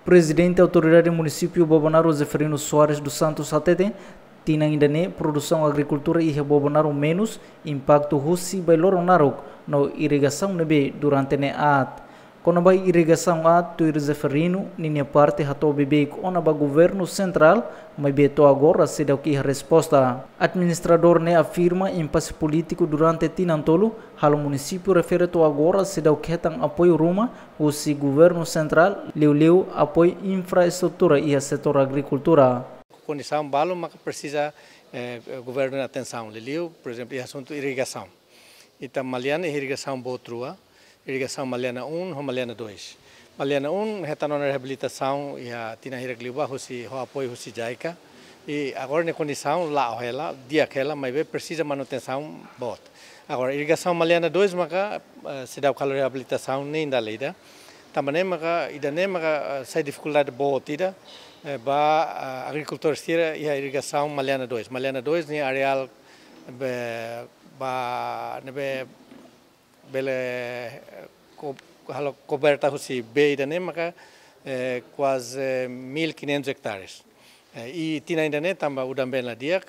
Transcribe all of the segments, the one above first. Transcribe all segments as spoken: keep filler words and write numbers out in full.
Prezidente Autoridade Munisípiu Bobonaro, Zeferino Soares dos Santos, hatete, tinan ida-ne'e produsaun agrikultura iha Bobonaro menus, impaktu husi bailoron naruk no irrigasaun ne'ebé durante ne'e aat. Kona-ba irrigasaun aat, tuir Zeferino, ninia parte hato'o beibeik ona ba governu sentrál, maibé to'o agora seidauk iha resposta. Administradór ne'e afirma impase polítiku durante tinan tolu halo munisípiu refere to'o agora seidauk hetan apoiu ruma husi governu sentrál, liuliu apoiu infraestrutura iha setór agrikultura. Kondisaun balu maka presiza, eh, governu nia atensaun, liuliu, por ezemplu, iha asuntu irrigasaun. Ita Maliana iha irrigasaun boot rua, irrigasaun Maliana um ho Maliana dois. Maliana um hetan ona reabilitasaun iha tinan hirak liubá husi, ho apoiu husi JICA. I agora nia kondisaun la'o hela, di'ak hela, maibé presiza manutensaun boot. Agora, irrigasaun Maliana dois maka, eh, seidauk halo reabilitasaun nein dala ida. Tanba ne'e maka, ida-ne'e maka, eh, sai difikuldade boot ida, eh, ba, eh, agrikultór sira iha irrigasaun Maliana dois. Maliana dois nia areál be, ba, ne'ebé bele, eh, ko-, halo koberta husi bee ida-ne'e maka, eh, kuaze mil e quinhentos hectares. Eh, i tinan ida-ne'e tanba udan-been la di'ak,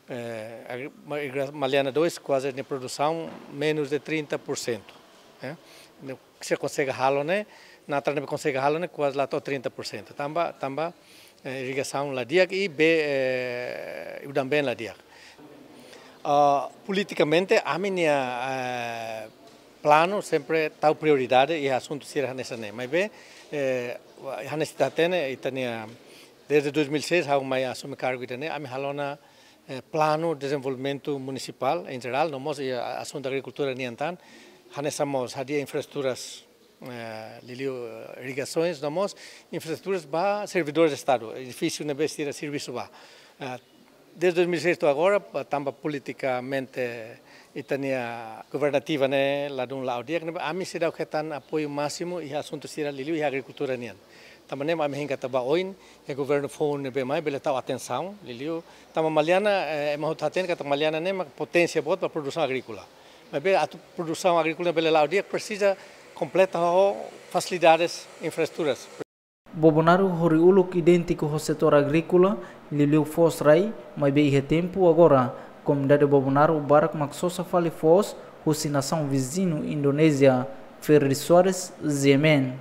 eh, agri-, ma-, irriga-, Maliana dois kuaze nia produsaun menus de trinta por cento. Eh, ne'e sira konsege halo ne'e, natar ne'ebé konsege halo ne'e kuaze la to'o trinta por cento. Tanba, tanba, eh, irrigasaun la di'ak i bee, eh, udan-been la di'ak. Ah, politikamente, ami-nia, eh, planu sempre tau prioridade iha asuntu sira hanesan ne'e. Maibé, eh, hanesan ita hatene, ita-nia, desde dois mil e seis, ha'u mai asume kargu ida-ne'e, ami halo ona, eh, planu dezenvolvimentu munisipál em jerál, no mós iha asuntu agrikultura nian tan, hanesan mós hadi'a infraestruturas, eh, liuliu, eh, irrigasoens, no mós infraestruturas ba servidores de Estado, edifísiu ne'ebé sira servisu ba. Eh, desde dois mil e seis to'o agora, pa-, tanba politikamente ita-nia governativa ne'e ladún la'o di'ak, ne'ebé ami seidauk hetan apoiu másimu iha asuntu sira liuliu iha agrikultura nian. Tanba ne'e ami hein katak ba oin, iha governu foun ne'ebé mai bele tau atensaun, liuliu. Tanba Maliana, eh, ema hotu hatene katak Maliana ne'e mak poténsia boot ba produsaun agríkola. Maibé atu produsaun agríkola bele la'o di'ak presiza kompleta ho fasilidades, infraestruturas. Bobonaro horiuluk idéntiku ho setór agríkola, liuliu foos rai, maibé iha tempu agora, komunidade Bobonaro barak mak sosa fali foos husi nasaun viziñu Indonézia. Ferdi Soares, Z M N.